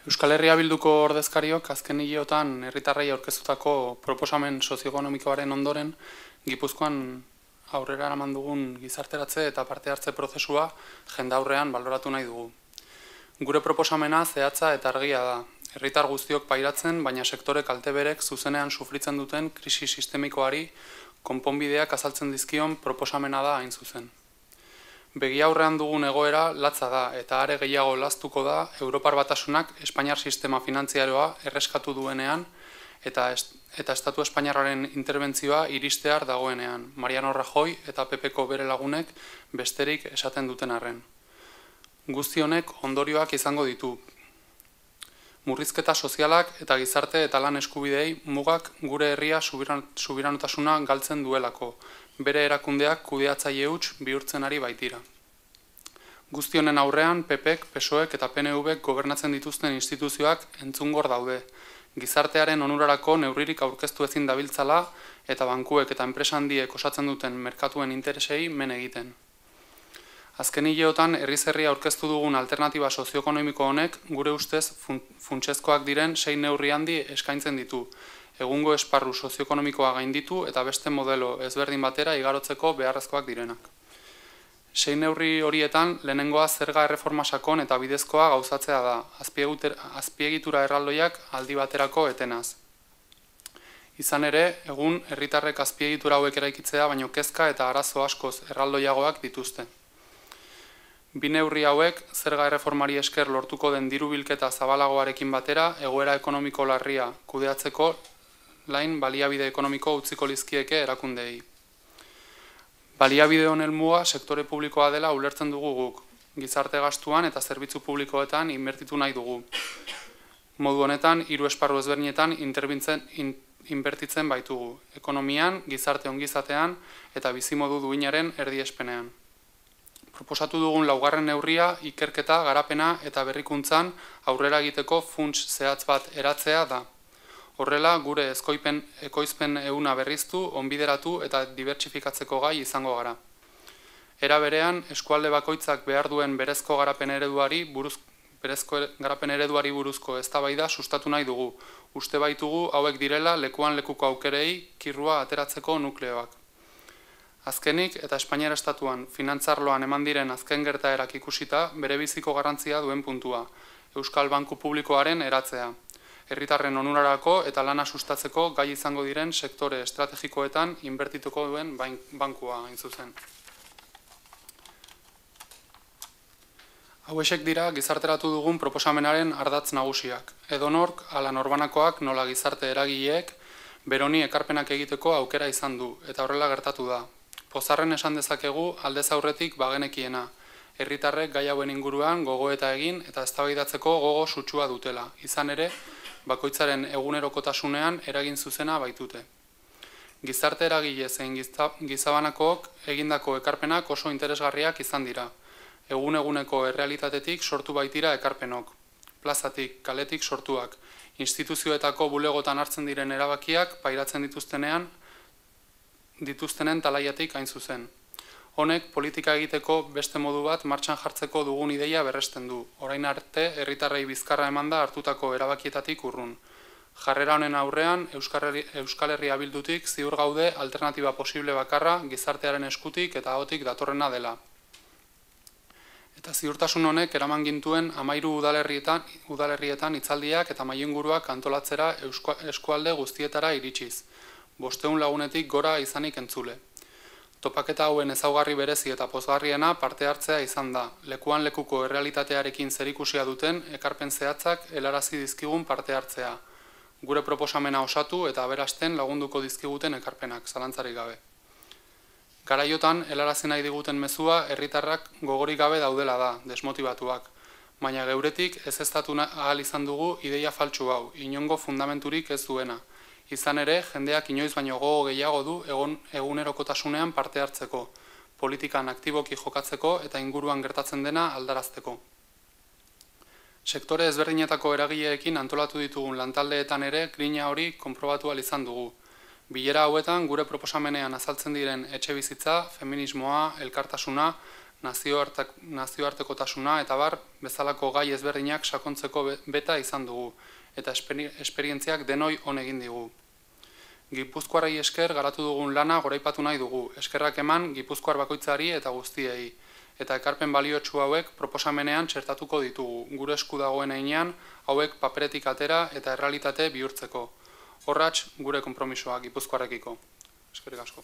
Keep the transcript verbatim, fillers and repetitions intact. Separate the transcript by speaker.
Speaker 1: Euskal Herria Bilduko ordezkariok azken hileotan herritarrei aurkeztutako proposamen sozioekonomikoaren ondoren Gipuzkoan aurrera eraman dugun gizarteratze eta parte hartze prozesua jendaurrean baloratu nahi dugu. Gure proposamena zehatza eta argia da. Herritar guztiok pairatzen, baina sektore kalteberek zuzenean sufritzen duten krisi sistemikoari konponbideak azaltzen dizkion proposamena da hain zuzen. Begi aurrean dugun egoera latza da eta are gehiago laztuko da Europar Batasunak Espainiar sistema finantziaroa erreskatu duenean eta eta Estatu Espainiarraren interbentzioa iristear dagoenean, Mariano Rajoy eta P Pko bere lagunek besterik esaten duten arren. Guzti honek ondorioak izango ditu. Murrizketa sozialak eta gizarte eta lan eskubidei mugak gure herria subiranotasuna galtzen duelako, bere erakundeak kudeatzaile huts bihurtzen ari baitira. Guzti honen aurrean P Pk, P S O Ek eta P N Vk gobernatzen dituzten instituzioak entzungor daude, gizartearen onurarako neurririk aurkeztu ezin dabiltzala eta bankuek eta enpresa handiek osatzen duten merkatuen interesei men egiten. Azken hileotan herriz herri aurkeztu dugun alternatiba sozioekonomiko honek gure ustez funtsezkoak diren sei neurri handi eskaintzen ditu, egungo esparru sozioekonomikoa gainditu eta beste modelo ezberdin batera igarotzeko beharrezkoak direnak. Sei neurri horietan lehenengoa zerga erreforma sakon eta bidezkoa gauzatzea da, azpiegitura erraldoiak aldi baterako etenaz. Izan ere, egun herritarrek azpiegitura hauek eraikitzea baino kezka eta arazo askoz erraldoiagoak dituzte. Bi neurri hauek, zerga erreformari esker lortuko den diru bilketa zabalagoarekin batera, egoera ekonomiko larria kudeatzeko lain baliabide ekonomiko utziko lizkieke erakundeei. Baliabide honen muga sektore publikoa dela ulertzen dugu guk, gizarte gastuan eta zerbitzu publikoetan inbertitu nahi dugu. Modu honetan, hiru esparru ezberdinetan inbertitzen baitugu, ekonomian, gizarte ongizatean eta bizimodu duinaren erdiespenean. Proposatu dugun laugarren neurria, ikerketa, garapena eta berrikuntzan aurrera egiteko funts zehatz bat eratzea da. Horrela, gure ezkoipen, ekoizpen ehuna berriztu, onbideratu eta dibertsifikatzeko gai izango gara. Era berean, eskualde bakoitzak behar duen berezko garapen ereduari buruz, berezko garapen ereduari buruzko eztabaida sustatu nahi dugu. Uste baitugu hauek direla lekuan lekuko aukerei kirrua ateratzeko nukleoak. Azkenik eta Espainiar Estatuan finantzarloan eman diren azken gertaerak ikusita bere biziko garrantzia duen puntua, Euskal Banku Publikoaren eratzea. Herritarren onurarako eta lana sustatzeko gai izango diren sektore estrategikoetan inbertituko duen bankua hain zuzen. Hauexek dira gizarteratu dugun proposamenaren ardatz nagusiak. Edonork, ala norbanakoak nola gizarte eragileek, beroni ekarpenak egiteko aukera izan du, eta horrela gertatu da. Pozarren esan dezakegu aldez aurretik bagenekiena, herritarrek gai hauen inguruan gogoeta egin eta eztabaidatzeko gogo sutsua dutela, izan ere, bakoitzaren egunerokotasunean eragin zuzena baitute. Gizarte eragile zein gizabanakook egindako ekarpenak oso interesgarriak izan dira. Egun-eguneko errealitatetik sortu baitira ekarpenok, plazatik, kaletik sortuak, instituzioetako bulegotan hartzen diren erabakiak pairatzen dituztenean, dituztenen talaiatik hain zuzen. Honek politika egiteko beste modu bat martxan jartzeko dugun ideia berresten du, orain arte herritarrei bizkarra emanda hartutako erabakietatik urrun. Jarrera honen aurrean, Euskal Herria Bildutik ziur gaude alternatiba posible bakarra gizartearen eskutik eta ahotik datorrena dela. Eta ziurtasun honek eraman gintuen hamairu udalerrietan, udalerrietan hitzaldiak eta mailenguruak antolatzera eskualde guztietara iritsiz, bosteun lagunetik gora izanik entzule. Topaketa hauen ezaugarri berezi eta pozgarriena parte hartzea izan da, lekuan lekuko errealitatearekin zerikusia duten ekarpen zehatzak helarazi dizkigun parte hartzea, gure proposamena osatu eta aberasten lagunduko dizkiguten ekarpenak, zalantzarik gabe. Garaiotan, helarazi nahi diguten mezua herritarrak gogorik gabe daudela da, desmotibatuak, baina geuretik ez eztatu ahal izan dugu ideia faltsu hau, inongo fundamenturik ez duena. Izan ere, jendeak inoiz baino gogo gehiago du egon egunerokotasunean parte hartzeko, politikan aktiboki jokatzeko eta inguruan gertatzen dena aldarazteko. Sektore ezberdinetako eragileekin antolatu ditugun lantaldeetan ere grina hori konprobatu ahal izan dugu. Bilera hauetan gure proposamenean azaltzen diren etxebizitza, feminismoa, elkartasuna, nazioartekotasuna eta bar, bezalako gai ezberdinak sakontzeko beta izan dugu, eta esperientziak denoi on egin digu. Gipuzkoarrei esker garatu dugun lana goraipatu nahi dugu, eskerrak eman Gipuzkoar bakoitzari eta guztiei, eta ekarpen baliotsu hauek proposamenean txertatuko ditugu, gure esku dagoen heinean hauek paperetik atera eta errealitate bihurtzeko. Horratx gure konpromisoa Gipuzkoarrekiko. Eskerrik asko.